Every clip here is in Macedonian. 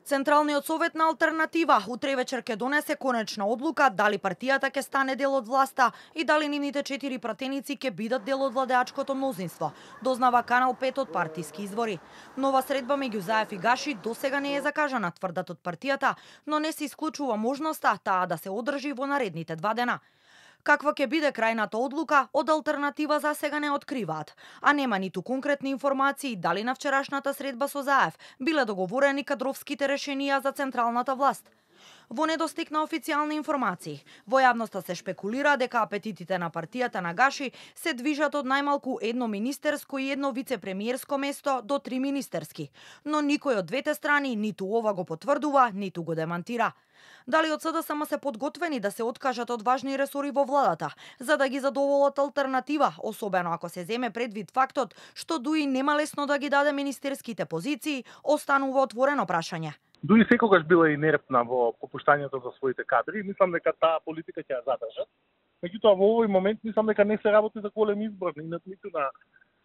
Централниот совет на Алтернатива утре вечер ќе донесе конечна одлука дали партијата ќе стане дел од власта и дали нивните 4 пратеници ќе бидат дел од владеачкото мнозинство, дознава Канал 5 од партиски извори. Нова средба меѓу Заев и Гаши досега не е закажана, тврдат од партијата, но не се исклучува можноста таа да се одржи во наредните 2 дена. Каква ќе биде крајната одлука, од Алтернатива за сега не откриваат, а нема ниту конкретни информации дали на вчерашната средба со Заев биле договорени кадровските решенија за централната власт. Во недостиг на официјални информации, во јавноста се шпекулира дека апетитите на партијата на Гаши се движат од најмалку едно министерско и едно вице-премиерско место до 3 министерски, но никој од двете страни ниту ова го потврдува, ниту го демантира. Дали од СДСМ се подготвени да се откажат од важни ресори во владата, за да ги задоволат Алтернатива, особено ако се земе предвид фактот што Дуи нема лесно да ги даде министерските позиции, останува отворено прашање. Дуи секогаш била инертна во попуштањето за своите кадри, мислам дека таа политика ќе ја задржат. Меѓутоа во овој момент мислам дека не се работи за голем избор, ниту на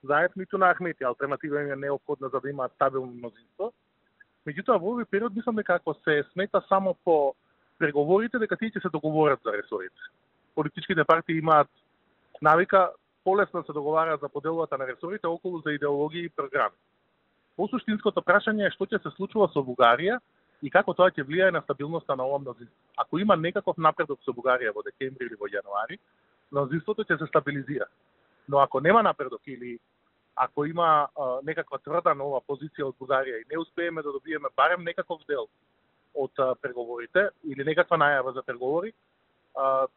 Заев, ниту на Ахмети. Алтернатива им е неопходна за да имаат стабилно мнозинство. Меѓутоа во овој период мислам дека ако се смета само по преговорите, дека тие ќе се договорат за ресорите. Политичките партии имаат навика полесно се договараат за поделбата на ресорите околу за идеологија и програми. Посуштинското прашање е што ќе се случува со Бугарија и како тоа ќе влијае на стабилноста на ова мнозинство. Ако има некаков напредок со Бугарија во декември или во јануари, мнозинството ќе се стабилизира. Но ако нема напредок или ако има некаква тврда нова позиција од Бугарија и не успееме да добиеме барем некаков дел од преговорите или некаква најава за преговори,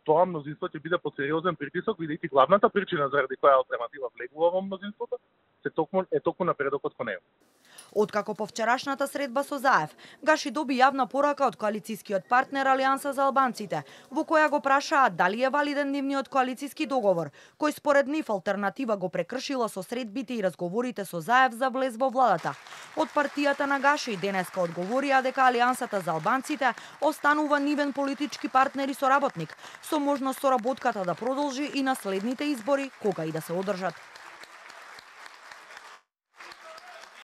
тоа мнозинство ќе биде под сериозен притисок, бидејќи главната причина заради која Алтернатива влегува во мнозинството е токму напредокот кон него. Откако по вчерашната средба со Заев, Гаши доби јавна порака од коалицијскиот партнер Алијанса за албанците, во која го прашаат дали е валиден нивниот коалицијски договор, кој според нив Алтернатива го прекршила со средбите и разговорите со Заев за влез во владата. Од партијата на Гаши денеска одговорија дека Алијансата за албанците останува нивен политички партнер и соработник, со можност соработката да продолжи и на следните избори, кога и да се одржат.